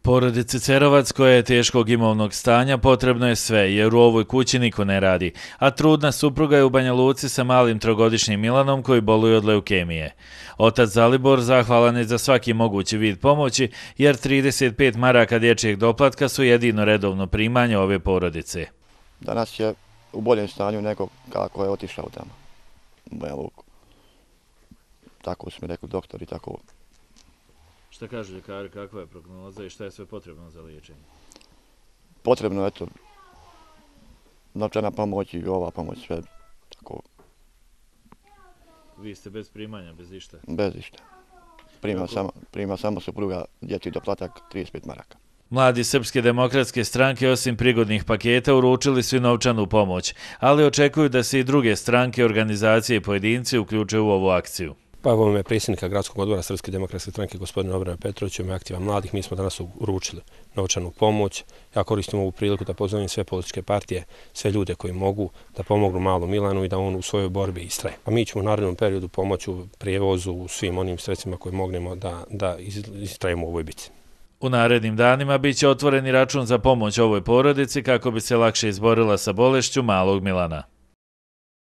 Porodici Cerovac, koja je teškog imovnog stanja, potrebno je sve, jer u ovoj kući niko ne radi, a trudna supruga je u Banja Luci sa malim trogodišnjim Milanom koji boluje od leukemije. Otac Zalibor zahvalan je za svaki mogući vid pomoći, jer 35 maraka dječjeg doplatka su jedino redovno primanje ove porodice. Danas je u boljem stanju nego kako je otišao tamo, u Banja Luku. Tako su mi rekli doktori, tako. Šta kažu ljekari, kakva je prognoza i šta je sve potrebno za liječenje? Potrebno je to novčana pomoć i ova pomoć, sve tako. Vi ste bez primanja, bez išta? Bez išta. Prima samo supruga dječji doplatak 35 maraka. Mladi Srpske demokratske stranke osim prigodnih paketa uručili su i novčanu pomoć, ali očekuju da se i druge stranke, organizacije i pojedinci uključe u ovu akciju. Pa evo me predsjednika Gradskog odbora Srpske demokratske stranke gospodina Obrana Petrovića i aktiva mladih. Mi smo danas uručili novčanu pomoć. Ja koristim ovu priliku da pozovem sve političke partije, sve ljude koji mogu da pomognu malom Milanu i da on u svojoj borbi istraje. A mi ćemo u narednom periodu pomoći u prijevozu, u svim onim sredstvima koje mognemo da istrajemo u ovoj bitci. U narednim danima biće otvoreni račun za pomoć ovoj porodici kako bi se lakše izborila sa bolešću malog Milana.